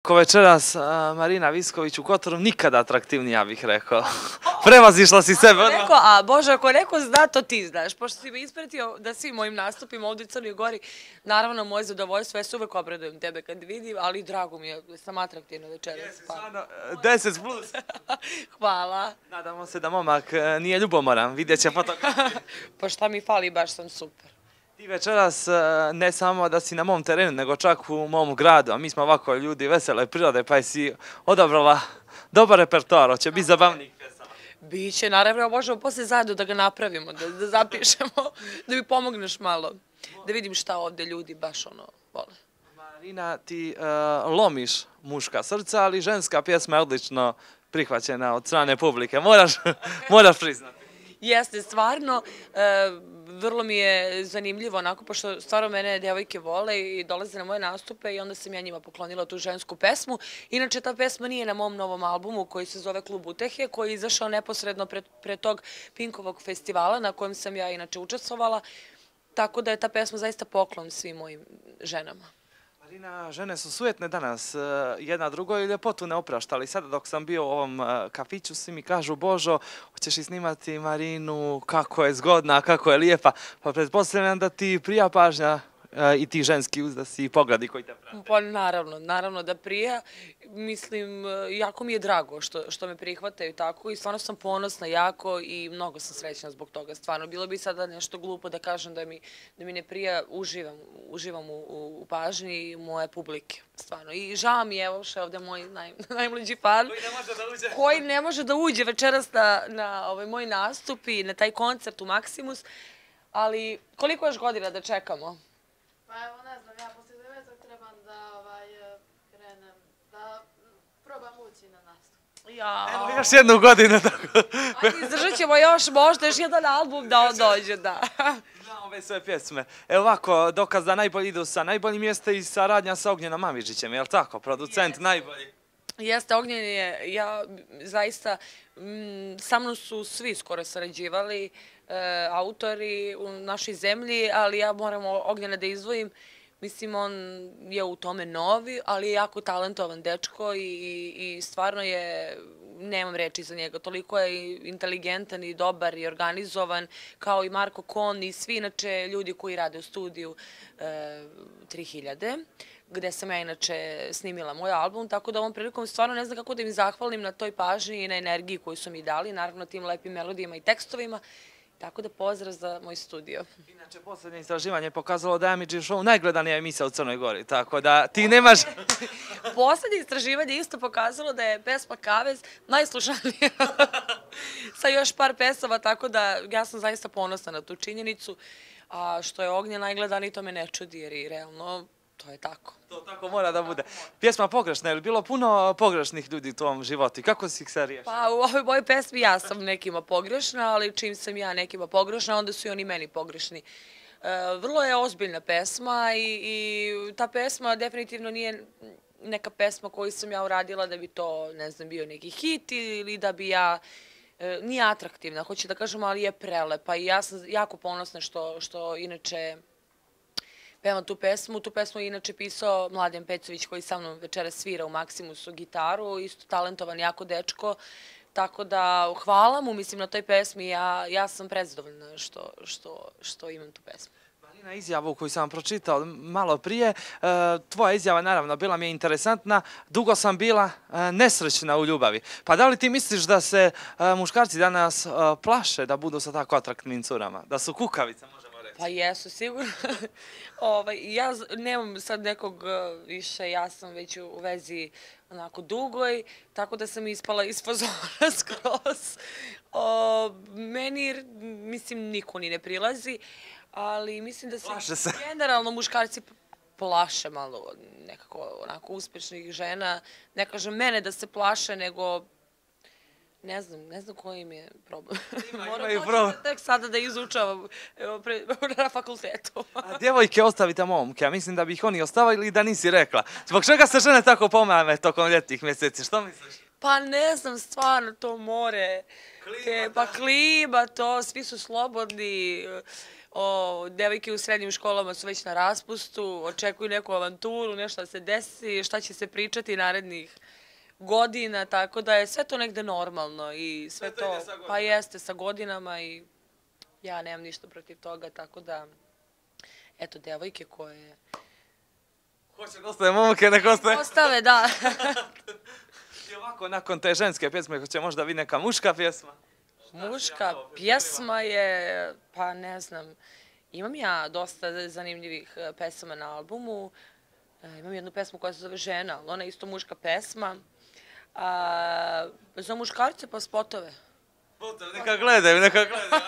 Ko večeras Marina Visković u Kotoru nikada atraktivnija bih rekao. Prevazišla si sebe odmah. A Bože, ako neko zna, to ti znaš. Pošto si me ispratio da svim mojim nastupima ovdje u Crnoj Gori, naravno moje zadovoljstvo, ja se uvek obradujem tebe kad vidim, ali drago mi je da sam atraktivna večeras. Jesi, stvarno, 10 plus. Hvala. Nadamo se da momak nije ljubomoran, vidjet će fotografije. Pa šta mi fali, baš sam super. Ti večeras ne samo da si na mom terenu, nego čak u mom gradu, a mi smo ovako ljudi vesele prirode, pa si odabrala dobar repertoar, hoće biti zabavnih pjesama. Biće, naravno, možemo poslije zajedno da ga napravimo, da zapišemo, da mi pomogneš malo, da vidim šta ovdje ljudi baš vole. Marina, ti lomiš muška srca, ali ženska pjesma je odlično prihvaćena od strane publike, moraš priznati. Jeste, stvarno, vrlo mi je zanimljivo onako, pošto stvarno mene devojke vole i dolaze na moje nastupe i onda sam ja njima poklonila tu žensku pesmu. Inače, ta pesma nije na mom novom albumu koji se zove Klub utehe, koji je izašao neposredno pre tog Pinkovog festivala na kojem sam ja inače učestvovala, tako da je ta pesma zaista poklon svim mojim ženama. Marina, žene su sujetne danas, jedna drugoj ljepotu ne oprašta, ali sada dok sam bio u ovom kafiću svi mi kažu Božo, hoćeš i snimati Marinu, kako je zgodna, kako je lijepa, pa pretpostavljam da ti prija pažnja i ti ženski uzdasi i pogledi koji te prate. Pa naravno da prija. Mislim, jako mi je drago što me prihvataju tako i stvarno sam ponosna jako i mnogo sam srećna zbog toga. Stvarno, bilo bi sada nešto glupo da kažem da mi ne prija, uživam u pažnji moje publike. Stvarno. I žao mi je, evo še ovdje moj najmlađi fan. Koji ne može da uđe večeras na moj nastup i na taj koncert u Maximus. Ali koliko još godina da čekamo? Pa evo, ne znam, ja poslije 9. trebam da krenem, da probam ući na nastup. Evo još jednu godinu tako. Ajde, izdržat ćemo možda još jedan album da on dođe, da. Znam ove sve pjesme. Evo ovako, dokaz da najbolji idu sa najboljim jeste i saradnja sa Ognjenom Mamižićem, je li tako? Producent najbolji. Jeste, Ognjen je, ja zaista, sa mnom su svi skoro sarađivali, autori u našoj zemlji, ali ja moram Ognjena da izdvojim. Mislim, on je u tome novi, ali je jako talentovan dečko i stvarno je, nemam reči za njega, toliko je inteligentan i dobar i organizovan, kao i Marko Kon i svi inače ljudi koji rade u studiju 3000, gde sam ja inače snimila moj album, tako da ovom prilikom stvarno ne znam kako da im zahvalim na toj pažnji i na energiji koju su mi dali, naravno tim lepim melodijama i tekstovima. Tako da pozdrav za moj studio. Inače, posljednje istraživanje je pokazalo da je Amidži Show najgledanija emisija u Crnoj Gori, tako da ti nemaš... Posljednje istraživanje isto pokazalo da je pesma Kavez najslušanija sa još par pesama, tako da ja sam zaista ponosna na tu činjenicu, a što je Ognjen najgledaniji, to me ne čudi, jer i realno to je tako. To tako mora da bude. Pjesma pogrešna, je li bilo puno pogrešnih ljudi u tvojom životu? Kako si ih se riješila? Pa u ovoj mojoj pesmi ja sam nekima pogrešna, ali čim sam ja nekima pogrešna, onda su i oni meni pogrešni. Vrlo je ozbiljna pesma i ta pesma definitivno nije neka pesma koju sam ja uradila da bi to, ne znam, bio neki hit ili da bi ja... Nije atraktivna, hoću da kažem, ali je prelepa i ja sam jako ponosna što inače pevam tu pesmu. Tu pesmu je inače pisao Mladen Pecović koji sa mnom večera svira u Maximusu gitaru, isto talentovan jako dečko, tako da hvala mu, mislim, na toj pesmi, ja sam prezadovoljna što imam tu pesmu. Marina, izjavu koju sam pročitao malo prije, tvoja izjava naravno bila mi je interesantna, dugo sam bila nesrećna u ljubavi. Pa da li ti misliš da se muškarci danas plaše da budu sa tako atraktivnim curama, da su kukavice, možemo reći? Pa jesu, sigurno. Ja nemam sad nekog više, ja sam već u vezi onako dugoj, tako da sam ispala iz fazona skroz. Meni, mislim, niko ni ne prilazi, ali mislim da se generalno muškarci plaše malo nekako onako uspešnih žena. Ne kažem mene da se plaše, nego ne znam koji im je problem. Moram tek sada da izučavam na fakultetu. A djevojke ostavite momke, a mislim da bi ih oni ostavili da nisi rekla. Zbog čega se žene tako pomame tokom ljetnih mjeseci, što misliš? Pa ne znam, stvarno, to more, pa klima, to, svi su slobodni, Devojke u srednjim školama su već na raspustu, očekuju neku avanturu, nešto da se desi, šta će se pričati narednih godina, tako da je sve to negde normalno i sve to, pa jeste sa godinama i ja nemam ništa protiv toga, tako da, eto, devojke koje... Hoće da ostaje momke, nek ostaje. Ostave, da. I ovako, nakon te ženske pjesme, hoće možda vi neka muška pjesma? Muška pjesma je, pa ne znam, imam ja dosta zanimljivih pesama na albumu. Imam jednu pesmu koja se zove Žena, ali ona je isto muška pesma. Za muškarce pa spotove. Spotove, neka gledaju, neka gledaju.